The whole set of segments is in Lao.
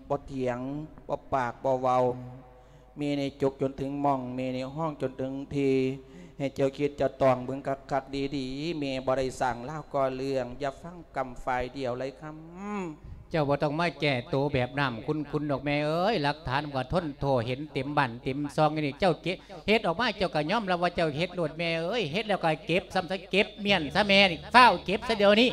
ບໍ່ຖຽງ ບໍ່ປາກບໍ່ເວົ້າ. ແມ່ນີ້ຈຸກຈົນເຖິງໝ່ອງ, ແມ່ນີ້ຮ້ອງຈົນເຖິງທີ່. ໃຫ້ເຈົ້າຄິດເຈົ້າຕອງເບິ່ງຄັກໆດີໆ. ແມ່ບໍ່ໄດ້ສ້າງລາວກໍ່ເລື່ອງ, ຢ່າຟັງກຳຝ່າຍດຽວໄລຄຳ. ເຈົ້າບໍ່ຕ້ອງມາແກ້ໂຕແບບນ້ຳຂຸ່ນໆດອກແມ່ເອີຍ, ຫຼັກຖານມັນກໍທົນໂທເຫັນເຕັມບ້ານເຕັມຊ່ອງຢູ່ນີ້. ເຈົ້າເກັບ ເຮັດອອກມາເຈົ້າກໍຍອມຮັບວ່າເຈົ້າເຮັດໂລດແມ່ເອີຍ, ເຮັດແລ້ວກໍເກັບຊ້ຳຊະ, ເກັບມ້ຽນຊະແມ່ນີ້, ຟ້າວເກັບຊະດຽວນີ້.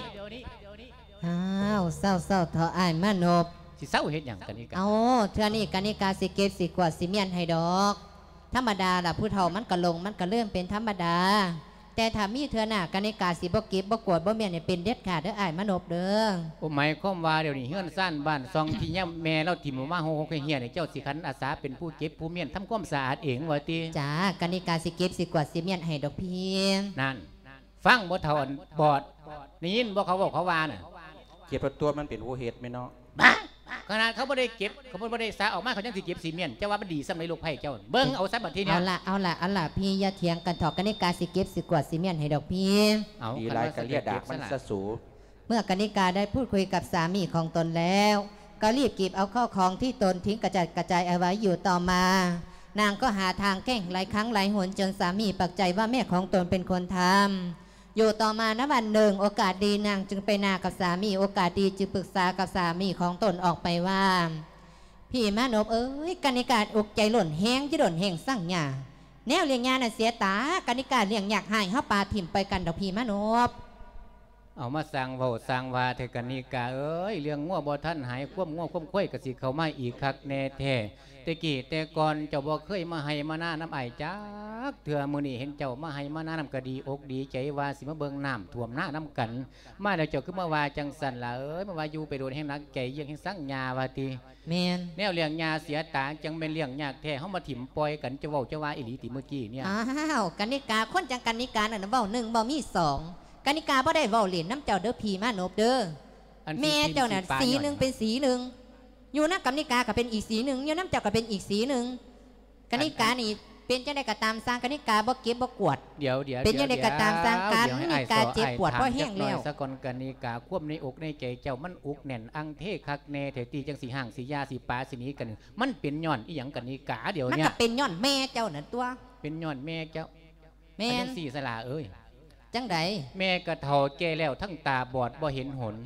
ອ້າວ ເຊົາໆເຖາະອ້າຍມານົບ. ຊິເຊົາເຮັດຫຍັງກະນິກາ? ເອົາ ເທື່ອນີ້ກະນິກາຊິເກັບ ຊິກວາດ ຊິມ້ຽນໃຫ້ດອກ. ທຳມະດາລະ ຜູ້ເຖົ້າມັນກະຫຼົງ ມັນກະລືມເປັນທຳມະດາ, ແຕ່ຖ້າມີເທື່ອໜ້າ ກະນິກາຊິບໍ່ເກັບ ບໍ່ກວາດ ບໍ່ມ້ຽນໃຫ້ເປັນເດັດຂາດເດີອ້າຍມານົບເດີ. ໂອ ໝາຍຄວາມວ່າດຽວນີ້ເຮືອນຊານບ້ານຊ່ອງທີ່ຍາມແມ່ລາວຖິ້ມອອກມາຫົກໆແຫ່ງໆນີ້ ເຈົ້າຊິຂັນອາສາເປັນຜູ້ເກັບຜູ້ມ້ຽນທຳຄວາມສະອາດເອງວ່າຕິ? ຈ້າ ກະນິກາຊິເກັບ ຊິກວາດ ຊິມ້ຽນໃຫ້ດອກພີ່. ນັ້ນ ຟັງບໍ່ເຖົ້າອັນບອດ ໄດ້ຍິນບໍ່ເຂົາເວົ້າເຂົາວ່ານະ? ເກັບແລ້ວຕົວະ ມັນເປັນຜູ້ເຮັດແມ່ນເນາະ. ບ້າ! ຂະໜາດເຂົາບໍ່ໄດ້ເກັບ ເຂົາບໍ່ໄດ້ສາອອກມາ ເຂົາຍັງຊິເກັບຊິມ້ຽນ. ເຈົ້າວ່າມັນດີສ່ຳໃດລູກໃພ້ເຈົ້າ? ເບິ່ງເອົາຊະບັດທີນີ້. ເອົາລະ ເອົາລະ ເອົາລະ ພີ່ຢ່າຖຽງກັນເຖາະ, ກະນິກາຊິເກັບຊິກວາດຊິມ້ຽນໃຫ້ດອກພີ່. ເອົາ ດີຫຼາຍກະເລຍດາກມັນຊະສູ. ເມື່ອກະນິກາໄດ້ພູດຄຸຍກັບສາມີຂອງຕົນແລ້ວ ກໍรีบเก็บเอาข้าวของที่ตนทิ้งกระจัดกระจายเอาไว้ อยู่ต่อมา นางก็หาทางแกล้งหลายครั้งหลายหน จนสามีปักใจว่าแม่ของตนเป็นคนทำ อยู่ต่อมาณวันหนึ่ง โอกาสดีนางจึงไปนากับสามี โอกาสดีจึงปรึกษากับสามีของตนออกไปว่า ພີ່ມານົບເອີຍ ກະນິກາອົກໃຈຫຼົ່ນແຮງ ຈະດົນແຮງສັງຫຍາ ແນວລ້ຽງຍານັ້ນເສຍຕາ ກະນິກາລ້ຽງຍາກ ໃຫ້ເຮົາປະຖິ້ມໄປກັນດອກພີ່ມານົບ. ເອົາມາສ້າງເວົ້າສ້າງວ່າແທ້ກະນິກາເອີຍ ເລື່ອງງົວບໍ່ທັນຫາຍ ຄວາມງົວຄວາມຄວາຍກໍຊິເຂົ້າມາອີກຄັກແນ່ແທ້. ແຕ່ກີ້ແຕ່ກ່ອນເຈົ້າບໍ່ເຄີຍມາໄຮ່ມານານຳອ້າຍຈັກເທື່ອ, ມື້ນີ້ເຫັນເຈົ້າມາໄຮ່ມານານຳກໍດີອົກດີໃຈ ວ່າຊິມາເບິ່ງນ້ຳຖ້ວມນານຳກັນ. ມາແລ້ວເຈົ້າຄືມາວ່າຈັ່ງຊັ້ນລະເອີຍ ມາວ່າຢູ່ໄປໂດນແຮງໜັກໃຈ ຢ້ຽງແຮງສັງຫຍາວ່າຕິ. ແມ່ນ. ແນວລ້ຽງຍາເສຍຕາ ຈັ່ງແມ່ນລ້ຽງຍາກແທ້ ເຮົາມາຖິ້ມປ່ອຍກັນ ເຈົ້າເວົ້າເຈົ້າວ່າອີ່ຫຼີຕິມື້ກີ້ເນີ້ຍ? ອ້າວ ກະນິກາ ຄົນຈັ່ງກະນິການັ້ນເວົ້າໜຶ່ງເວົ້າມີສອງ ກະນິກາບໍ່ໄດ້ເວົ້າຫຼິ້ນນຳເຈົ້າເດີ ພີ່ມານົບເດີ. ອັນ ແມ່ເຈົ້ານັ້ນສີໜຶ່ງເປັນສີໜຶ່ງ ຢູ່ນຳກະນິກາກໍເປັນອີກສີໜຶ່ງ ຢູ່ນຳເຈົ້າກໍເປັນອີກສີໜຶ່ງ. ກະນິການີ້ເປັນຈັ່ງໃດກໍຕາມຊ່າງ ກະນິກາບໍ່ເກັບບໍ່ກວາດ. ດຽວໆ ເປັນຈັ່ງໃດກໍຕາມຊ່າງ ກະນິກາເຈັບປວດພໍແຮງແລ້ວ. ສະກ່ອນກະນິກາ ຄວາມໃນອົກໃນໃຈເຈົ້າມັນອຸກແໜ້ນອັງເທຄັກແນ່ແທ້ຕິ ຈັ່ງຊິຮ້າງຊິຢາຊິປາຊິໜີກັນ ມັນເປັນຍ້ອນອີ່ຫຍັງກະນິກາດຽວເນີ້ຍ? ມັນກໍເປັນຍ້ອນແມ່ເຈົ້ານັ້ນຕົວະ. ເປັນຍ້ອນແມ່ເຈົ້າ? ແມ່ນ. ຈັ່ງຊີ້ສະຫຼາເອີຍ. ຈັ່ງໃດ? ແມ່ກໍເຖົ້າແກ່ແລ້ວ ທັງຕາບອດບໍ່ເຫັນຫົນ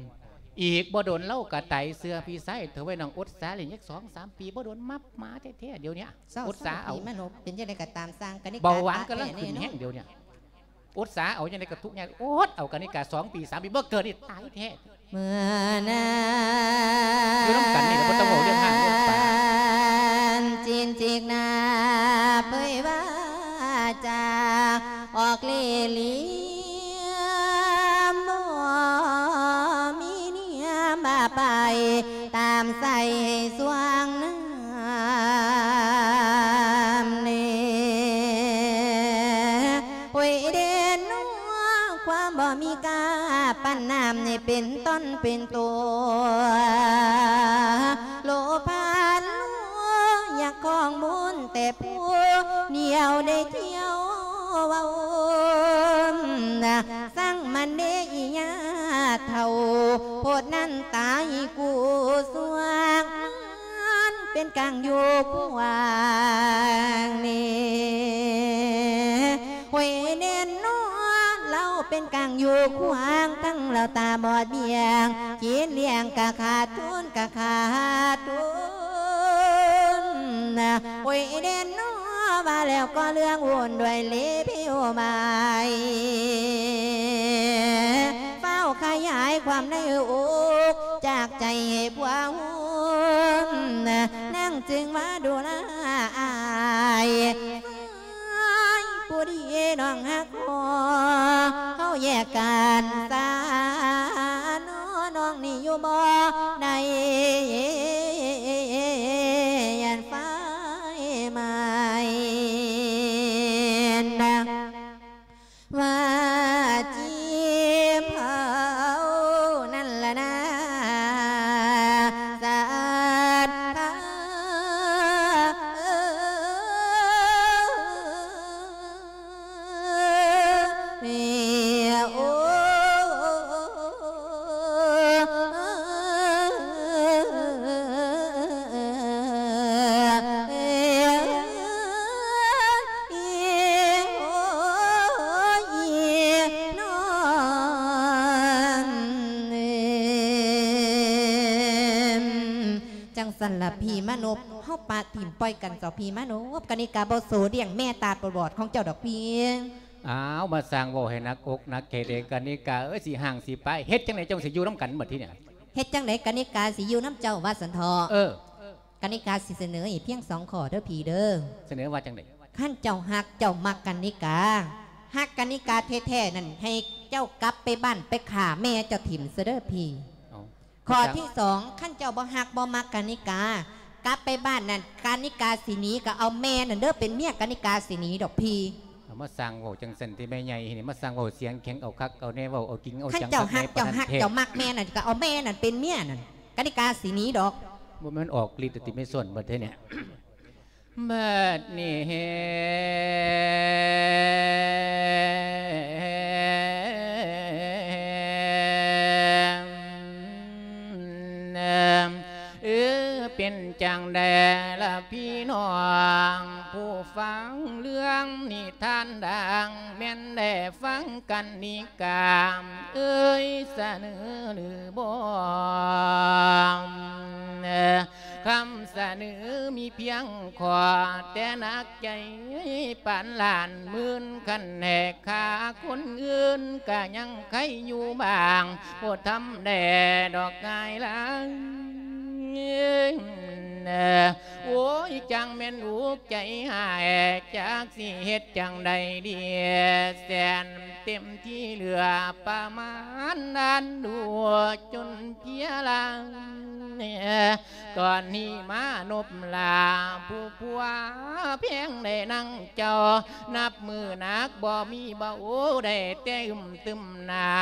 ອີກບໍ່ດົນລາວກໍຕາຍເຊື່ອພີ່ຊາຍເຖາະເວີຍ ນ້ອງອົດສາເລີຍຈັກສອງສາມປີ ບໍ່ດົນມາ ມາແທ້ໆດຽວເນີ້ຍ. ເຊົາໆ ອົດສາເອົາ ພີ່ມານົບ ເປັນຈັ່ງໃດກໍຕາມຊ່າງ ກະນິກາ ເບົາຫວານກຳລັງຂຶ້ນແຮງດຽວເນີ້ຍ. ອົດສາເອົາຈັ່ງໃດກໍທຸກຍາກ ອົດເອົາກະນິກາສອງປີສາມປີ ບໍ່ເກີດນີ້ຕາຍແທ້. ເມື່ອນານ ຢູ່ນຳກັນນີ້ແຫຼະ ບໍ່ຕ້ອງເວົ້າເລື່ອງຮ້າງເລື່ອງປານ ຈີນຈິກໜ້າເຜີຍວ່າຈາ ອອກເລ່ຫຼ່ຽມ ບໍ່ມີເນຍມາໄປ ຕາມໃສ່ຊ່ວງນາມເນ ໂອຍເດນ ຄວາມບໍ່ມີຄ່າ ປັນນ້ຳໃຫ້ເປັນຕົນເປັນຕົວ ໂລພານ ຢາກຄອງບຸນແຕ່ຜູ້ດຽວ ໄດ້ທ່ຽວເວົ້າ ຊ່າງມັນເດອີຫຍາເຖົ້າ ໂພດນັ້ນຕາຍກູສວງ ມັນເປັນກາງຢູ່ຂວາງເນ ໂອຍເນນນໍ ລາວເປັນກາງຢູ່ຂວາງ ທັງລາວຕາບອດບຽງ ຈີນລ້ຽງກະຂາດທຶນ ກະຂາດທຶນ ໂອຍເນນນໍ ວ່າແລ້ວກໍເລື່ອງວຸ່ນດ້ວຍເລເພວມາຍ ຟ້າວຂະຫຍາຍຄວາມໃນອົກ ຈາກໃຈໃຫ້ຜົວຫຸ່ມ ນາງຈຶ່ງມາດູລາອ້າຍ ອ້າຍຜູ້ດີນ້ອງຮັກພໍ ເຮົາແຍກກັນຊະນໍ ນ້ອງນີ້ຢູ່ບໍ່ໄດ້ ຢ້ານໄຟໄໝ້ນະ ວ່າຈີບເຮົານັ້ນລະນາ ສາດພາ ໂອ ຈັ່ງຊັ້ນລະພີ່ມານົບ ເຮົາປະຖິ້ມປ່ອຍກັນເຈົ້າພີ່ມານົບ ກະນິກາບໍ່ໂສລ້ຽງແມ່ຕາບອດຂອງເຈົ້າດອກພີ່. ອ້າວ ມາສ້າງເວົ້າໃຫ້ໜັກອົກໜັກໃຈເດ ກະນິກາເອີຍ ຊິຮ້າງຊິປາຍ ເຮັດຈັ່ງໃດຈັ່ງຊິຢູ່ນຳກັນບັດທີນີ້? ເຮັດຈັ່ງໃດກະນິກາຊິຢູ່ນຳເຈົ້າວ່າຊັ້ນເຖາະ? ເອີ ກະນິກາຊິສະເໜີອີກພຽງສອງຂໍ້ເດີພີ່ເດີ. ສະເໜີວ່າຈັ່ງໃດ? ຄັນເຈົ້າຮັກເຈົ້າມັກກະນິກາ ຮັກກະນິກາແທ້ໆນັ້ນ ໃຫ້ເຈົ້າກັບໄປບ້ານໄປຂ້າແມ່ເຈົ້າຖິ້ມຊະເດີພີ່. ເອົ້າ ຂໍ້ທີສອງ ຄັນເຈົ້າບໍ່ຮັກບໍ່ມັກກະນິກາ ກັບໄປບ້ານນັ້ນ ກະນິກາຊິໜີ ກໍເອົາແມ່ນັ້ນເດີເປັນເມຍ ກະນິກາຊິໜີດອກພີ່. ເອົາ ມາສ້າງເວົ້າຈັ່ງຊັ້ນຕິແມ່ໃຫຍ່ນີ້ ມາສ້າງເວົ້າສຽງແຂງ ເອົາຄັກເອົາແນ່ ເວົ້າເອົາຈິງເອົາຈັງ. ຄັນເຈົ້າຮັກເຈົ້າຮັກເຈົ້າມັກແມ່ນັ້ນ ກໍເອົາແມ່ນັ້ນເປັນເມຍນັ້ນ ກະນິກາຊິໜີດອກ. ບໍ່ແມ່ນອອກລິດຕິແມ່ສ່ວນບັດເທື່ອນີ້. ບັດນີ້ ເອີ ເປັນຈັ່ງໃດລະພີ່ນ້ອງ ຜູ້ຟັງເລື່ອງນິທານດັງ ແມ່ນໄດ້ຟັງກັນນິກາເອີຍ ສະເໜີຫຼືບໍ່? ຄຳສະເໜີມີພຽງຂໍ້ ແຕ່ໜັກໃຈປານລ້ານໝື່ນ ຄັນແຫກຂ້າຄົນອື່ນ ກະຍັງໄຄຢູ່ບ້າງ ບໍ່ທຳແດ່ດອກງ່າຍຫຼາຍ. ໂອ້ຍ ຈັ່ງແມ່ນອຸກໃຈຮ້າຍ ຈັກຊິເຮັດຈັ່ງໃດດີ ແສນເຕັມທີ່ເຫຼືອປະມານ ອັນດູຈົນເພຍລາຍ. ຕອນນີ້ມານົບລາຜູ້ຜົວແພງ ໄດ້ນັ່ງເຈົ້າ ນັບມື້ໜັກບໍ່ມີເບົາ ໄດ້ແຕ່ອຶ້ມຕຶມໜ້າ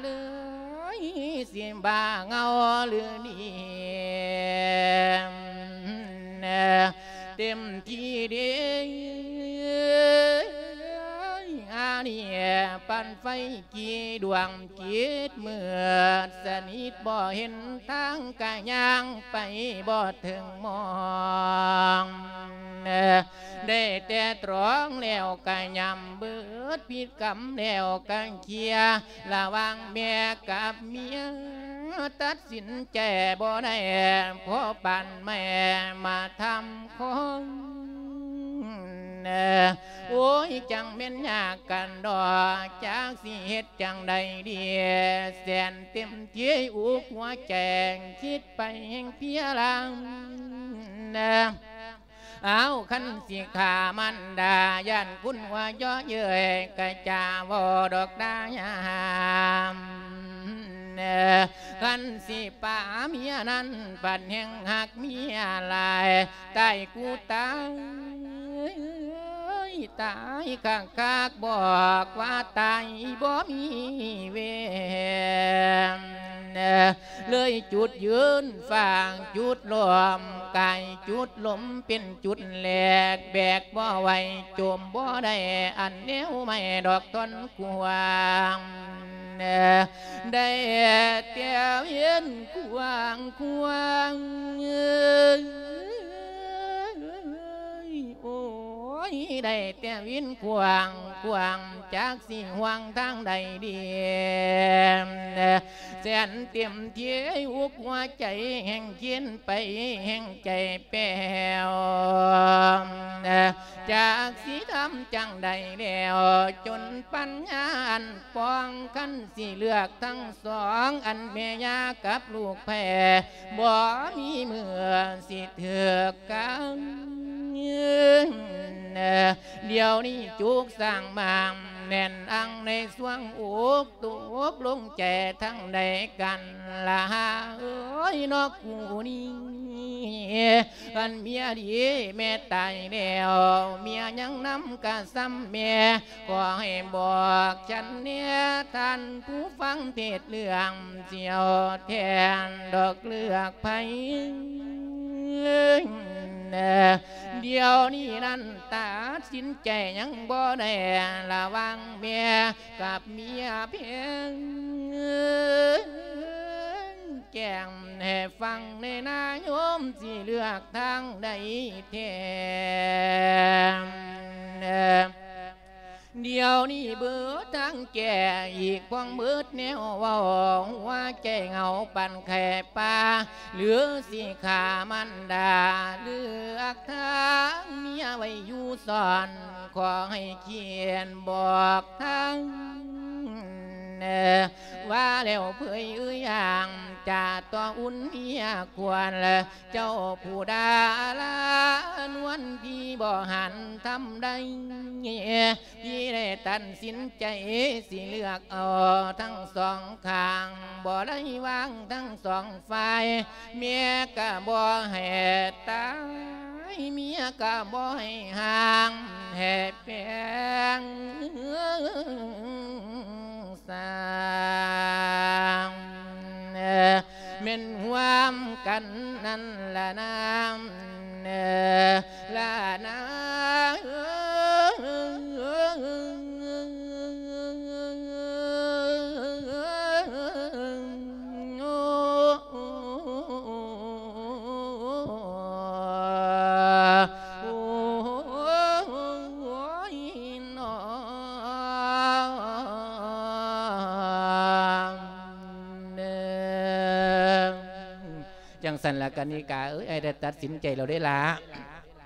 ເລີຍ ຊິບ້າເຫງົາຫຼືດີ ເຕັມທີ່ເດ ອານີ້ປັນໄຟ ກີ່ດວງຈິດມືດສະໜິດ ບໍ່ເຫັນທາງກະຍ່າງໄປບໍ່ເຖິງໝ່ອງ ໄດ້ແຕ່ຕຣອງແລ້ວກະຫຍ້ຳ ເບີດພິດກຳແລ້ວກະເຄຍ ລະຫວ່າງແມ່ກັບເມຍ ຕັດສິນໃຈບໍ່ໄດ້ ພໍປານແມ່ມາທຳຂອງ ໂອ້ຍ ຈັ່ງແມ່ນຍາກກັນດອກ ຈັກຊິເຮັດຈັ່ງໃດດີ ແສນເຕັມທີ່ອຸກຫົວໃຈ ຄິດໄປແຮ່ງເພຍລາຍ. ອ້າວ ຄັນຊິຂ້າມານດາ ຢ້ານຄຸນຫົວເຍາະເຍີ້ຍ ກະຈາເວົ້າດອກດາຍາມ ຄັນຊິປາເມຍນັ້ນ ບັດແຮ່ງຮັກເມຍຫຼາຍ ຕາຍກູຕາຍ ຕາຍຄັກໆ ບອກວ່າຕາຍບໍ່ມີເວນ ເລີຍຈຸດຢືນຟາງ ຈຸດລ້ອມກາຍ ຈຸດລົມເປັນຈຸດແຫຼກ ແບກບໍ່ໄຫວ ໂຈມບໍ່ໄດ້ ອັນແນວໄມ້ດອກທ່ອນກວ້າງ ໄດ້ແຕ່ວຽນຄວາງຄວາງ ໂອ້ຍ ໄດ້ແຕ່ວຽນຄວາງຄວາງ ຈັກຊິຫວ່າງທາງໃດດີ ແສນເຕັມທີ່ ອົກຫົວໃຈແຮ່ງເຢັນໄປແຮ່ງໃຈແປ້ວ ຈັກຊິທຳຈັ່ງໃດແລ້ວ ຈົນປັນຍາອັນປ່ອງ ຄັນຊິເລືອກທັງສອງ ອັນແມ່ຍ່າກັບລູກແພ້ ບໍ່ມີເມື່ອຊິຖືກກັນ ດຽວນີ້ຈຸກສ້າງໝາງ ແໜ້ນອັງໃນຊ່ວງອົກ ຕົກລົງໃຈທັງໃດກັນລະເອີຍ ເນາະກູນີ້ ຄັນເມຍດີແມ່ຕາຍແລ້ວ ເມຍຍັງນຳກະສ່ຳແມ່ ຂໍໃຫ້ບອກສັນແດ່ ທ່ານຜູ້ຟັງເທດເລື່ອງ ຊິເອົາແທນດອກເລືອກໃຜ ດຽວນີ້ນັ້ນຕັດສິນໃຈຍັງບໍ່ໄດ້ ລະຫວ່າງແມ່ກັບເມຍເພງ ແຈ້ງໃຫ້ຟັງແດ່ນາໂຍມ ຊິເລືອກທາງໃດແທ້ ເອີ ດຽວນີ້ເບີດທາງແກ້ ອີກພວງເບີດແນວເວົ້າ ຫົວໃຈເຫງົາປານໄຂ່ປ່າ ຫຼືຊິຂ້າມານດາ ເລືອກທາງເມຍໄວ້ຢູ່ຊ້ອນ ຂໍໃຫ້ຂຽນບອກທາງ ວ່າແລ້ວເຜີຍເອີຍຢ່າງ ຈາຕໍ່ອຸ່ນເມຍຄວນ ເຈົ້າຜູ້ດາລານວນ ພີ່ບໍ່ຫັນທຳໃດ ພີ່ໄດ້ຕັດສິນໃຈ ຊິເລືອກເອົາທັງສອງຂ້າງ ບໍ່ໄດ້ວາງທັງສອງຝ່າຍ ເມຍກະບໍ່ໃຫ້ຕາຍ ເມຍກະບໍ່ໃຫ້ຫ່າງ ໃຫ້ແປງ ສ້າງ ແມ່ນຮ່ວມກັນນັ້ນລະນາ ລະນາ. ຈັ່ງຊັ້ນລະກະນິກາເອີຍ ອ້າຍໄດ້ຕັດສິນໃຈແລ້ວເດ້ລະ.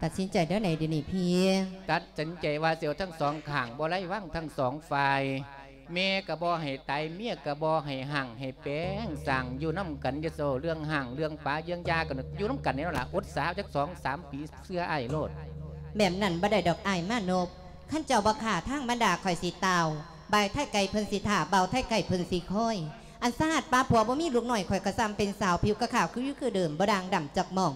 ຕັດສິນໃຈແນວໃດດຽວນີ້ພີ່? ຕັດສິນໃຈວ່າຊິເອົາທັງສອງຂ້າງ ບໍ່ໄດ້ວາງທັງສອງຝ່າຍ ແມ່ກະບໍ່ໃຫ້ຕາຍ ເມຍກະບໍ່ໃຫ້ຮັ່ງໃຫ້ແປງ ສ້າງຢູ່ນຳກັນ ຢ່າເວົ້າເລື່ອງຮ້າງເລື່ອງປາເລື່ອງຢາກັນ ຢູ່ນຳກັນນີ້ແຫຼະ ອົດສາຈັກສອງສາມປີ ເຊື່ອອ້າຍໂລດ. ແບບນັ້ນບໍ່ໄດ້ດອກອ້າຍມານົບ ຄັນເຈົ້າບໍ່ຂ້າທາງບັນດາຂ້ອຍຊິຕ່າວ ບ່າວໄທໄກເພິ່ນຊິຖ້າ ບ່າວໄທໄກເພິ່ນຊິຄອຍ ອັນສາຫັດປາຜົວບໍ່ມີລູກນ້ອຍ ຂ້ອຍກະສ່ຳເປັນສາວຜິວກະຂາວຄືຢູ່ຄືເດີມ ບໍ່ດ່າງດຳຈັກໝ່ອງ.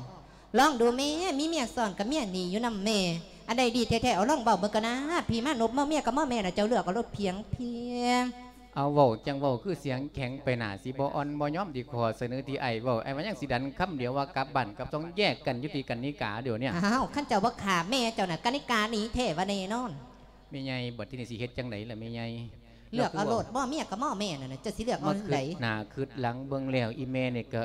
ລອງດູແມ້ ມີເມຍຊ້ອນກະເມຍໜີຢູ່ນຳແມ່ ອັນໃດດີແທ້ໆ ເອົາລອງເວົ້າເບິ່ງກະນາ ພີ່ມານົບ ມໍເມຍກະມໍແມ່ນະ ເຈົ້າເລືອກເອົາໂລດພຽງພຽງ. ເອົາ ເວົ້າຈັ່ງເວົ້າຄືສຽງແຂງໄປໜ້າ ຊິບໍ່ອ່ອນບໍ່ຍອມທີ່ຂໍ້ສະເໜີທີ່ອ້າຍເວົ້າ ອ້າຍວ່າຍັງຊິດັນຄຳດຽວວ່າກັບບ້ານກັບຊ່ອງ ແຍກກັນຢູ່ທີ່ກະນິກາດຽວນີ້. ອ້າວ ຄັນເຈົ້າບໍ່ຂ້າແມ່ເຈົ້ານະ ກະນິກາໜີແທ້ວ່າແນ່ນອນ. ແມ່ໃຫຍ່ ບັດທີນີ້ຊິເຮັດຈັ່ງໃດລະແມ່ໃຫຍ່? ເລືອກເອົາໂລດ ບໍ່ເມຍກະໝໍແມ່ນັ້ນນະ ເຈົ້າຊິເລືອກເອົາໃດ? ມາຄຶດໜ້າຄຶດຫຼັງເບິ່ງແລ້ວ ອີ່ແມ່ນີ້ກະ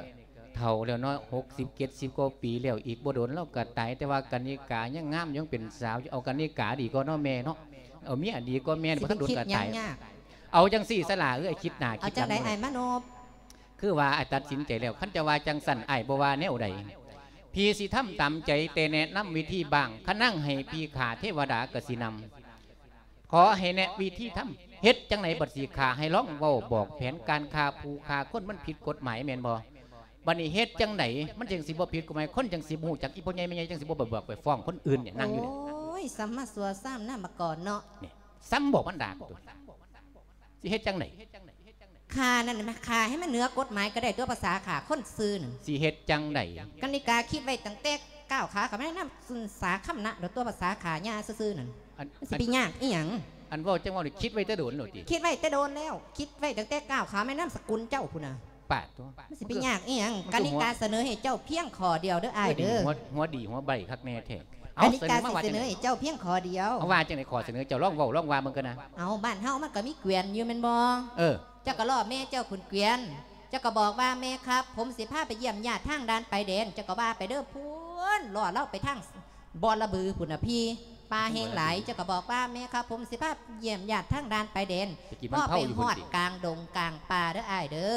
ເຖົ້າແລ້ວເນາະ ຫົກສິບເຈັດສິບກວ່າປີແລ້ວ ອີກບໍ່ດົນລາວກະຕາຍ ແຕ່ວ່າກະນິກາຍັງງາມ ຍັງເປັນສາວຢູ່ ເອົາກະນິກາດີກວ່າເນາະແມ່ເນາະ ເອົາເມຍດີກວ່າແມ່ ບໍ່ທັນດົນກະຕາຍ. ເອົາຈັ່ງຊີ້ສະຫຼ້າເອີຍ ຄິດໜ້າຄິດຫຼັງ ເອົາຈັ່ງໃດອ້າຍມານົບ? ຄືວ່າອ້າຍຕັດສິນໃຈແລ້ວ ຄັນເຈົ້າວ່າຈັ່ງຊັ້ນ ອ້າຍບໍ່ວ່າແນວໃດ ພີ່ຊິທຳຕາມໃຈ ແຕ່ແນະນຳວິທີບ້າງ ຄັນນາງໃຫ້ພີ່ຂ້າ ເທວະດາກະຊິນຳ ຂໍໃຫ້ແນະວິທີທຳ ເຮັດຈັ່ງໃດບັດຊິຂ້າ ໃຫ້ລອງເວົ້າບອກແຜນການຂ້າຜູ້ຂ້າຄົນ ມັນຜິດກົດໝາຍແມ່ນບໍ່? ບັດນີ້ເຮັດຈັ່ງໃດ ມັນຈຶ່ງຊິບໍ່ຜິດກົດໝາຍ ຄົນຈັ່ງຊິບໍ່ຮູ້ຈັກ ອີ່ພໍ່ໃຫຍ່ແມ່ໃຫຍ່ຈັ່ງຊິບໍ່ໄປບອກໄປຟ້ອງຄົນອື່ນນີ້ ນັ່ງຢູ່ນີ້. ໂອ້ຍ ສຳມາຊົ່ວຊ້ຳນາມາກ່ອນເນາະ ນີ້ ຊ້ຳບອກມັນດາກ ຊິເຮັດຈັ່ງໃດ? ຂ້ານັ້ນ ຂ້າໃຫ້ມັນເໜືອກົດໝາຍກະໄດ້ຕົວະ ພາສາຂ້າຄົນຊື່ນັ້ນ. ຊິເຮັດຈັ່ງໃດ? ກະນິກາຄິດໄວ້ຕັ້ງແຕ່ກ້າວຂາເຂົ້າມາໃນນາມສາຄຳນະໂລດຕົວະ ພາສາຂ້າຍ່າຊື່ໆນັ້ນ. ມັນຊິໄປຍາກອີ່ຫຍັງ? ອັນເວົ້າຈັ່ງເວົ້ານີ້ ຄິດໄວ້ແຕ່ດົນໂລດຕິ? ຄິດໄວ້ແຕ່ດົນແລ້ວ ຄິດໄວ້ຕັ້ງແຕ່ກ້າວຂາມາໃນນາມສະກຸນເຈົ້າພຸ້ນນະ. ປາດໂທ້ ມັນຊິໄປຍາກອີ່ຫຍັງ? ກະນິກາສະເໜີໃຫ້ເຈົ້າພຽງຂໍ້ດຽວເດີອ້າຍເດີ. ຫົວ ຫົວດີຫົວໃບຄັກແນ່ແທ້. ກະນິກາຊິສະເໜີໃຫ້ເຈົ້າພຽງຂໍ້ດຽວ. ເອົາ ວ່າຈັ່ງໃດ? ຂໍ້ສະເໜີເຈົ້າ ລອງເວົ້າ ລອງວ່າເບິ່ງກະນະ. ເອົາ ບ້ານເຮົາມັນກະມີແກວ່ນຢູ່ແມ່ນບໍ່? ເອີ ເຈົ້າກະລໍ້ແມ່ເຈົ້າຂຶ້ນແກວ່ນ ເຈົ້າກະບອກວ່າ ແມ່ຄັບ ຜົມຊິພາໄປຢ້ຽມຍາດທາງດ່ານຊາຍແດນ ເຈົ້າກະວ່າໄປເດີພຸ້ນ ລໍ້ລາວໄປທາງ ບໍລະບືພຸ້ນນະພີ່ ປ່າແຮງຫຼາຍ. ເຈົ້າກະບອກວ່າ ແມ່ຄັບ ຜົມຊິພາຢ້ຽມຍາດທາງດ່ານຊາຍແດນ. ພໍໄປຮອດກາງດົງກາງປ່າເດີອ້າຍເດີ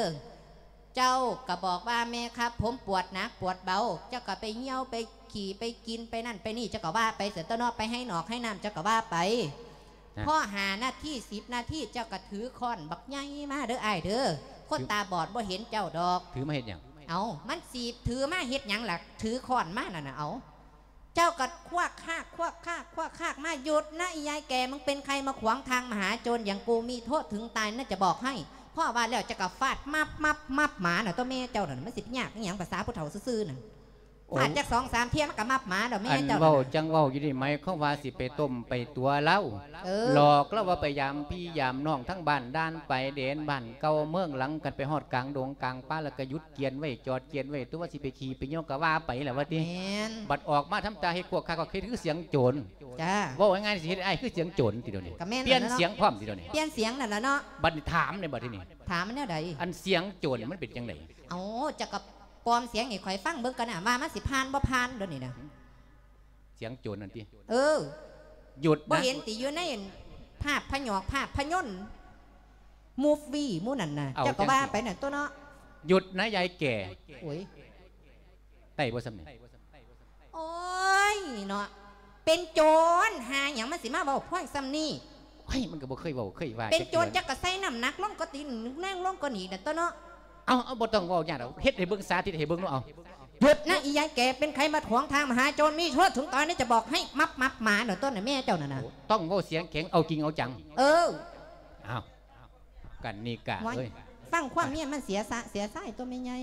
ເຈົ້າກະບອກວ່າ ແມ່ຄັບ ຜົມປວດໜັກປວດເບົາ. ເຈົ້າກະໄປຫ່ຽວໄປຂີ້ໄປກິນໄປນັ້ນໄປນີ້ ເຈົ້າກະວ່າໄປຊັ້ນຕົວະເນາະ ໄປໄຮ່ນອກໄຮ່ນາມ ເຈົ້າກະວ່າໄປ. ພໍຫ້ານາທີສິບນາທີ ເຈົ້າກະຖືຄ້ອນບັກໃຫຍ່ມາເດີອ້າຍເດີ ຄົນຕາບອດບໍ່ເຫັນເຈົ້າດອກ. ຖືມາເຮັດຫຍັງ? ເອົາ ມັນຊິຖືມາເຮັດຫຍັງລະ ຖືຄ້ອນມານັ້ນນະ. ເອົາ ເຈົ້າກະຄວາກຄາກ ຄວາກຄາກ ຄວາກຄາກມາ ຢຸດນະອີຍາຍແກ່ ມຶງເປັນໃຄມາຂວາງທາງມະຫາໂຈນຢ່າງກູ ມີໂທດເຖິງຕາຍນະຈະບອກໃຫ້. ພໍວ່າແລ້ວເຈົ້າກະຟາດມັບມັບມັບໝານະ ຕົວະແມ່ເຈົ້ານັ້ນ. ມັນຊິໄປຍາກອີ່ຫຍັງ ພາສາຜູ້ເຖົ້າຊື່ໆນັ້ນ. ໂອ້ ຟາດຈັກສອງສາມເທື່ອມັນກະມັບໝາດອກແມ່ເຈົ້ານັ້ນ. ອັນເວົ້າຈັ່ງເວົ້າຢູ່ນີ້ ໝາຍຄວາມວ່າຊິໄປຕົ້ມໄປຕົວະລາວ ເອີ ຫຼອກລາວວ່າໄປຢາມພີ່ຢາມນ້ອງທາງບ້ານດ່ານຊາຍແດນ ບ້ານເກົ່າເມືອງຫຼັງ ຄັນໄປຮອດກາງດົງກາງປ່າ ແລ້ວກະຢຸດກຽນໄວ້ ຈອດກຽນໄວ້ ຕົວະວ່າຊິໄປຂີ້ໄປຍ່ຽວກະວ່າໄປແຫຼະວ່າຕິ. ແມ່ນ. ບັດອອກມາທຳຕາເຮັດຄວກຄາກ ກະຄືສຽງໂຈນ. ຈ້າ ເວົ້າງ່າຍໆ ຊິເຮັດອ້າຍຄືສຽງໂຈນຕິດຽວນີ້. ກະແມ່ນ ປ່ຽນສຽງພ້ອມຕິດຽວນີ້. ປ່ຽນສຽງນັ້ນລະເນາະ. ບັດນີ້ຖາມແດ່ບັດທີນີ້ ຖາມແນວໃດ? ອັນສຽງໂຈນມັນເປັນຈັ່ງໃດ? ເອົາ ເຈົ້າກະປອມສຽງໃຫ້ຂ້ອຍຟັງເບິ່ງກະນະ ວ່າມັນຊິຜ່ານບໍ່ຜ່ານດຽວນີ້ນະ. ສຽງໂຈນນັ້ນຕິ? ເອີ ຢຸດນະ ບໍ່ເຫັນຕິ ຢູ່ໃນ ພາບພະຍອກ ພາບພະຍົນ ມູຟວີ ໝູ່ນັ້ນນະ ເຈົ້າກໍວ່າໄປນັ້ນຕົວະເນາະ. ຢຸດນະຍາຍແກ່. ໂອ້ຍ ໄດ້ບໍ່ສ່ຳນີ້? ໂອ້ຍເນາະ ເປັນໂຈນຫາຫຍັງ ມັນຊິມາເວົ້າພວງສ່ຳນີ້? ໂອ້ຍ ມັນກໍບໍ່ເຄີຍເວົ້າເຄີຍວ່າ ເປັນໂຈນຈັກກະໃສ່ນ້ຳໜັກລົງກວ່າຕີນນາງລົງກວ່ານີ້ນັ້ນຕົວະເນາະ. ເອົາ ເອົາ ບໍ່ຕ້ອງເວົ້າຍາກດອກ ເຮັດໃຫ້ເບິ່ງ ສາທິດໃຫ້ເບິ່ງດູ. ເອົາ ຢຸດນະອີຍາຍແກ່ ເປັນໃຄມາຂວາງທາງມະຫາໂຈນ ມີໂທດເຖິງຕາຍນະ ຈະບອກໃຫ້ມັບໆໝາໂດນຕົ້ນນະແມ່ເຈົ້ານັ້ນນະ. ໂອ້ ຕ້ອງເວົ້າສຽງແຂງ ເອົາຈິງເອົາຈັງ. ເອີ ເອົາ ກັນນິກາເອີຍ ຟັງຄວາມເມຍມັນເສຍສະເສຍສາຍຕົວະແມ່ໃຫຍ່.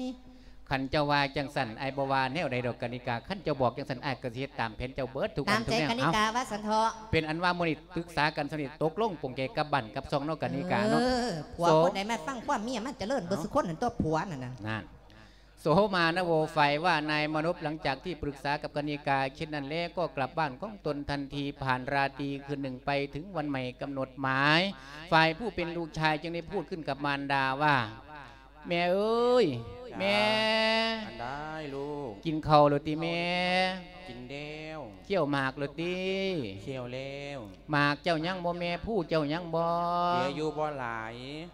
ຄັນເຈົ້າວ່າຈັ່ງຊັ້ນ ອ້າຍບໍ່ວ່າແນວໃດດອກກັນນິກາ ຄັນເຈົ້າບອກຈັ່ງຊັ້ນ ອ້າຍກໍຊິເຮັດຕາມແຜນເຈົ້າເບິດທຸກອັນທຸກແນວ. ຕາມໃຈກັນນິກາວ່າຊັ້ນເຖາະ. ເອົາ ເປັນອັນວ່າມື້ນີ້ປຶກສາກັນສ່ຳນີ້ ຕົກລົງປົງໃຈກັບບ້ານກັບຊ່ອງເນາະກັນນິກາເນາະ. ເອີ ຜົວຄົນໃດມາຟັງຄວາມເມຍມັນຈະເລີນເບິດສຸຄົນນັ້ນຕົວະ ຜົວນັ້ນນະ. ນັ້ນ ໂສມານະໂວ ຝ່າຍວ່ານາຍມານົບ ຫຼັງຈາກທີ່ປຶກສາກັບກະນິກາເຊັ່ນນັ້ນແລ້ວ ກໍກັບບ້ານຂອງຕົນທັນທີ ຜ່ານລາຕີຄືນໜຶ່ງໄປເຖິງວັນໃໝ່ກຳນົດໝາຍ ຝ່າຍຜູ້ເປັນລູກຊາຍຈຶ່ງໄດ້ພູດຂຶ້ນກັບມານດາວ່າ ແມ່ເອີຍ ແມ່ ອັນໃດລູກ ກິນເຂົ້າແລ້ວຕິແມ່? ກິນແລ້ວ. ຂ້ຽວໝາກແລ້ວຕິ? ຂ້ຽວແລ້ວ. ໝາກເຈົ້າຍັງບໍ່ແມ່? ພູເຈົ້າຍັງບໍ່? ເຫຼືອຢູ່ບໍ່ຫຼາຍ.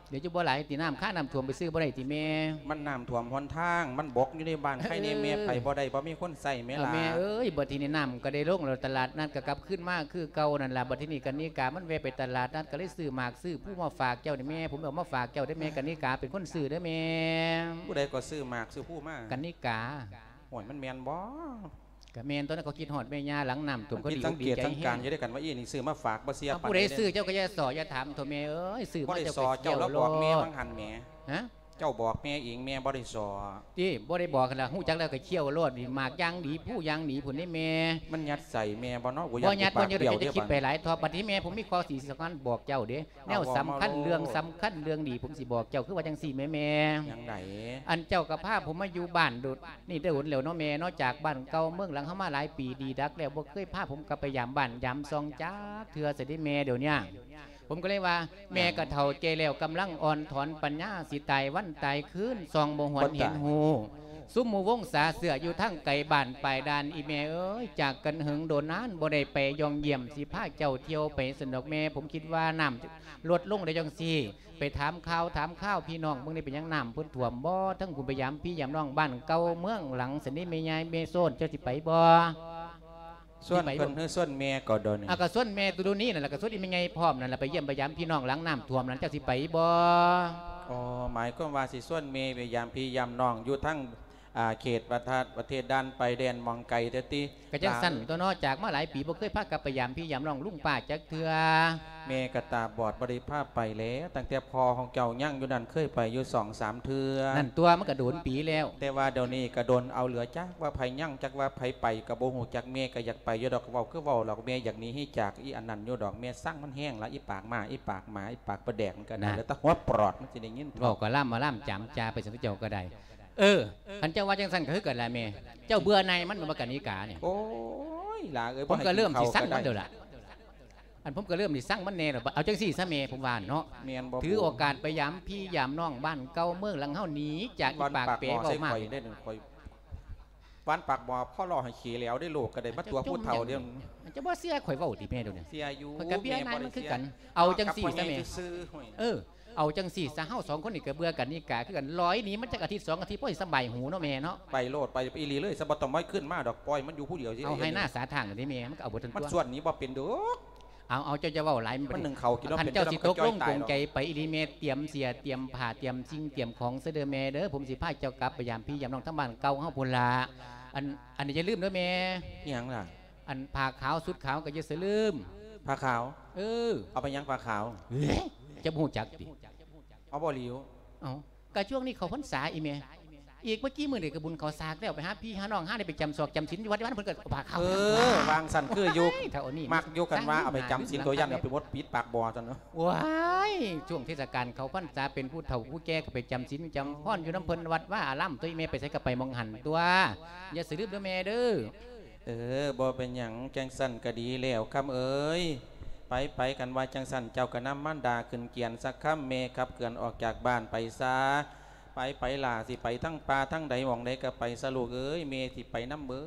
ເຫຼືອຢູ່ບໍ່ຫຼາຍຕິ? ນ້ຳຄານ້ຳຖ້ວມໄປຊື້ບໍ່ໄດ້ຕິແມ່? ມັນນ້ຳຖ້ວມຫົນທາງ ມັນບົກຢູ່ໃນບ້ານ ໃຜແນ່ແມ່ ເອີ ໄປບໍ່ໄດ້ ບໍ່ມີຄົນໃຊ້ແມ່ຫຼ້າ. ແມ່ເອີຍ ບັດທີນີ້ນ້ຳກໍໄດ້ລົງແລ້ວ ຕະຫຼາດນັດກໍກັບຄືນມາຄືເກົ່ານັ້ນລະ. ບັດທີນີ້ກະນິກາມັນແວ່ໄປຕະຫຼາດນັດ ກໍເລີຍຊື້ໝາກຊື້ພູມາຝາກເຈົ້ານີ້ແມ່. ຜົມເອົາມາຝາກເຈົ້າເດີ້ແມ່ ກະນິກາເປັນຄົນຊື້ເດີ້ແມ່. ຜູ້ໃດກໍຊື້ໝາກຊື້ພູມາ? ກະນິກາ. ໂອ້ຍ ມັນແມ່ນບໍ່? ກະແມ່ນຕົວະ ເຂົາຄິດຮອດແມ່ຍ່າ ຫຼັງນ້ຳຖ້ວມ ເຂົາດີອົກດີໃຈແຮງ. ຢູ່ດ້ວຍກັນວ່າ ອີ່ນີ້ຊື້ມາຝາກ ບໍ່ເຊື່ອປານໃດເດ້. ເຈົ້າກໍຢ່າສໍ້ ຢ່າຖາມໂທ້ແມ່ເອີຍ ຊື້ມາເຈົ້າກໍສ່ຽວໂລດ. ບໍ່ໄດ້ສໍ້ ເຈົ້າລະບອກແມ່ຫວ່າງຫັ້ນແໝ. ຮະ? ເຈົ້າບອກແມ່ເອງ ແມ່ບໍ່ໄດ້ສໍ້. ຕິ ບໍ່ໄດ້ບອກຫັ້ນລະ ຮູ້ຈັກແລ້ວກໍຂ້ຽວໂລດ. ນີ້ໝາກຢ່າງດີ ພູຢ່າງດີພຸ້ນເດ້ແມ່. ມັນຍັດໃສ່ແມ່ບໍ່ເນາະ? ບໍ່ຍັດ ບໍ່ຍັດ ຢ່າໄປຄິດໄປຫຼາຍເຖາະ. ບັດນີ້ແມ່ ຜົມມີຂໍ້ຊິສຳຄັນບອກເຈົ້າເດ້. ແນວສຳຄັນ ເລື່ອງສຳຄັນເລື່ອງດີ ຜົມຊິບອກເຈົ້າ ຄືວ່າຈັ່ງຊີ້ແມ່ ແມ່. ຈັ່ງໃດ? ອັນເຈົ້າກໍພາຜົມມາຢູ່ບ້ານໂດນ ນີ້ໂດນແລ້ວເນາະແມ່ເນາະ ຈາກບ້ານເກົ່າເມືອງຫຼັງເຮົາມາຫຼາຍປີດີດັກແລ້ວ ບໍ່ເຄີຍພາຜົມກັບໄປຢາມບ້ານຢາມຊ່ອງຈັກເທື່ອຊະເດ້ແມ່. ດຽວນີ້ຜົມກໍເລີຍວ່າ ແມ່ກໍເຖົ້າແກ່ແລ້ວ ກຳລັງອ່ອນຖອນປັນຍາ ຊິຕາຍວັນຕາຍຄືນ ສ່ອງບໍ່ຫວນເຫັນຮູ້. ຊຸມໝູ່ວົງສາເສື້ອຢູ່ທາງໄກບ້ານປາຍດ່ານ ອີ່ແມ່ເອີຍ ຈາກກັນເຫິງໂດນນານ ບໍ່ໄດ້ໄປຢ່ອງຢ້ຽມ ຊິພາເຈົ້າທ່ຽວໄປຊັ້ນດອກແມ່. ຜົມຄິດວ່ານ້ຳ ລົດລົງໄດ້ຈັ່ງຊີ້ ໄປຖາມຂ່າວຖາມຄາວພີ່ນ້ອງເບິ່ງ ໄດ້ເປັນຫຍັງນ້ຳເພິ່ນຖ້ວມບໍ່? ທັງພຸ້ນໄປຢາມພີ່ຢາມນ້ອງບ້ານເກົ່າເມືອງຫຼັງຊັ້ນນີ້ ແມ່ຍາຍແມ່ໂຊນ ເຈົ້າຊິໄປບໍ່? ຊວນເພິ່ນ ຫຼື ຊວນແມ່ກໍດອນນີ້? ອ່າ ກໍຊວນແມ່ຕຸໂດນີ້ນັ້ນລະ ກໍຊວນອີ່ແມ່ໃຫຍ່ພ້ອມນັ້ນລະ ໄປຢ້ຽມໄປຢາມພີ່ນ້ອງຫຼັງນ້ຳຖ້ວມນັ້ນ ເຈົ້າຊິໄປບໍ່? ອໍ ໝາຍຄວາມວ່າຊິຊວນແມ່ໄປຢາມພີ່ຢາມນ້ອງຢູ່ທາງ ອ່າ ເຂດປະທະ ປະເທດດ່ານໄປແດນໝ່ອງໄກແທ້ຕິ? ກໍຈັ່ງຊັ້ນຕົວະເນາະ ຈາກມາຫຼາຍປີບໍ່ເຄີຍພາກັບໄປຢາມພີ່ຢາມນ້ອງລຸງປ້າຈັກເທື່ອ. ແມ່ກໍຕາບອດບໍ່ໄດ້ພາໄປແລ້ວ ຕັ້ງແຕ່ພໍ່ຂອງເຈົ້າຍັງຢູ່ນັ້ນເຄີຍໄປຢູ່ສອງສາມເທື່ອ. ນັ້ນຕົວະ ມັນກໍໂດນປີແລ້ວ. ແຕ່ວ່າດຽວນີ້ກໍດົນເອົາ ເຫຼືອຈັກວ່າໃຜຍັງ ຈັກວ່າໃຜໄປກໍບໍ່ຮູ້ຈັກ. ແມ່ກໍຢາກໄປຢູ່ດອກ ເວົ້າຄືເວົ້າດອກ ແມ່ຢາກໜີໃຫ້ຈາກອີ່ອັນນັ້ນຢູ່ດອກ. ແມ່ຊັງມັນແຮງລະ ອີ່ປາກໝາ ອີ່ປາກໝາ ອີ່ປາກປາແດກ ມັນກໍ ນະ ແລ້ວແຕ່ຫົວປອດມັນຊິໄດ້ຍິນ. ເວົ້າກໍລ່ຳມາລ່ຳຈຳຈາໄປຊັ້ນເຈົ້າກໍໄດ້. ເອີ ຄັນເຈົ້າວ່າຈັ່ງຊັ້ນກໍຄືກັນລະແມ່. ເຈົ້າເບື່ອໜ່າຍມັນແມ່ນບໍ່ ກະນິການີ້? ໂອ້ຍ ຫຼ້າເອີຍ ຜົມກໍເລີ່ມຊິຊັງມັນແລ້ວລະ. ອັນ ຜົມກໍເລີ່ມຊິຊັງມັນແດ່ລະ. ເອົາຈັ່ງຊີ້ຊະແມ່ ຜົມວ່າເນາະ ຖືໂອກາດໄປຢາມພີ່ຢາມນ້ອງບ້ານເກົ່າເມືອງຫຼັງເຮົາ ໜີຈາກອີ່ປາກເປເວົ້າມາກ. ວັນປາກໝໍ້ ພໍລໍ້ໃຫ້ເຂແຫຼວໄດ້ ໂລກກໍໄດ້ມາຕົວະຜູ້ເຖົ້າເດ້. ເຈົ້າບໍ່ເຊື່ອຂ້ອຍເວົ້າຕິແມ່ ດຽວນີ້? ເຊື່ອຢູ່ ຂ້ອຍກໍເບື່ອນາຍມັນຄືກັນ. ເອົາຈັ່ງຊີ້ຊະແມ່ ເອີ ເອົາຈັ່ງຊີ້ຊະ ເຮົາສອງຄົນນີ້ກໍເບື່ອກະນິກາຄືກັນ. ລອຍໜີມັນຈັກອາທິດສອງອາທິດ ພໍຊິສະບາຍຫູເນາະແມ່ເນາະ. ໄປໂລດ ໄປອີ່ຫຼີເລີຍ ສະ ບໍ່ຕ້ອງມາຂຶ້ນມາດອກ ປ່ອຍມັນຢູ່ຜູ້ດຽວຊິ. ເອົາໄຮ່ນາສາທາງນີ້ແມ່ ມັນກໍເອົາເບິດທັງຕົວ. ມັນຊວນໜີບໍ່ເປັນດອກ. ເອົາ ເອົາ ເຈົ້າຈະເວົ້າຫຼາຍ ມັນໜຶ້ງເຂົ້າກິນ ຄັນເຈົ້າຊິຕົກລົງປົງໃຈໄປອີ່ຫຼີແມ່ ຕຽມເສື້ອ ຕຽມຜ້າ ຕຽມສິ່ງ ຕຽມຂອງຊະເດີແມ່ເດີ. ຜົມຊິພາເຈົ້າກັບໄປຢາມພີ່ຢາມນ້ອງທາງບ້ານເກົ່າເຮົາພຸ້ນລະ. ອັນ ອັນນີ້ຢ່າລືມເດີແມ່. ອີ່ຫຍັງລະ? ອັນຜ້າຂາວ ຊຸດຂາວກໍຢ່າສະລືມ. ຜ້າຂາວ? ເອີ ເອົາໄປຫຍັງຜ້າຂາວ? ເອີ ເຈົ້າບໍ່ຮູ້ຈັກຕິ? ເອົາບໍ່ຫຼິວ. ເອົ້າ ກະຊ່ວງນີ້ເຂົ້າພັນສາອີ່ແມ່ ອີກບໍ່ກີ້ມື້ນີ້ກໍບຸນເຂົ້າສາກແລ້ວ ໄປຫາພີ່ຫານ້ອງ ຫາໄດ້ໄປຈຳຊອກຈຳສິນຢູ່ວັດຢູ່ວາ ເພິ່ນກໍພາເຂົ້າ. ເອີ ວາງຊັ້ນຄືຢູ່ ມັກຢູ່ ຄັນວ່າເອົາໄປຈຳສິນ ໂຕຢ້ານເອົາໄປໝົດປິດປາກບໍ່ຊັ້ນເນາະ. ວ້າຍ ຊ່ວງເທດສະການເຂົ້າພັນສາ ເປັນຜູ້ເຖົ້າຜູ້ແກ່ກໍໄປຈຳສິນຈຳພອນຢູ່ນຳເພິ່ນວັດວາອາລາມຕົວະ ອີ່ແມ່ ໄປໃສກໍໄປໝ່ອງຫັ້ນຕົວະ. ຢ່າສະລືມເດີແມ່ເດີ. ເອີ ບໍ່ເປັນຫຍັງ ຈັ່ງຊັ້ນກໍດີແລ້ວ ຄຳເອີຍ. ໄປໆ ຄັນວ່າຈັ່ງຊັ້ນ ເຈົ້າກໍນຳມານດາຂຶ້ນກຽນຊະ ຄຳ. ແມ່ຂັບເຄື່ອນອອກຈາກບ້ານໄປຊະ. ໄປໆ ຫຼ້າ ຊິໄປທາງປ່າທາງໃດໝ່ອງໃດກໍໄປຊະລູກເອີຍ ແມ່ຊິໄປນຳເບີ.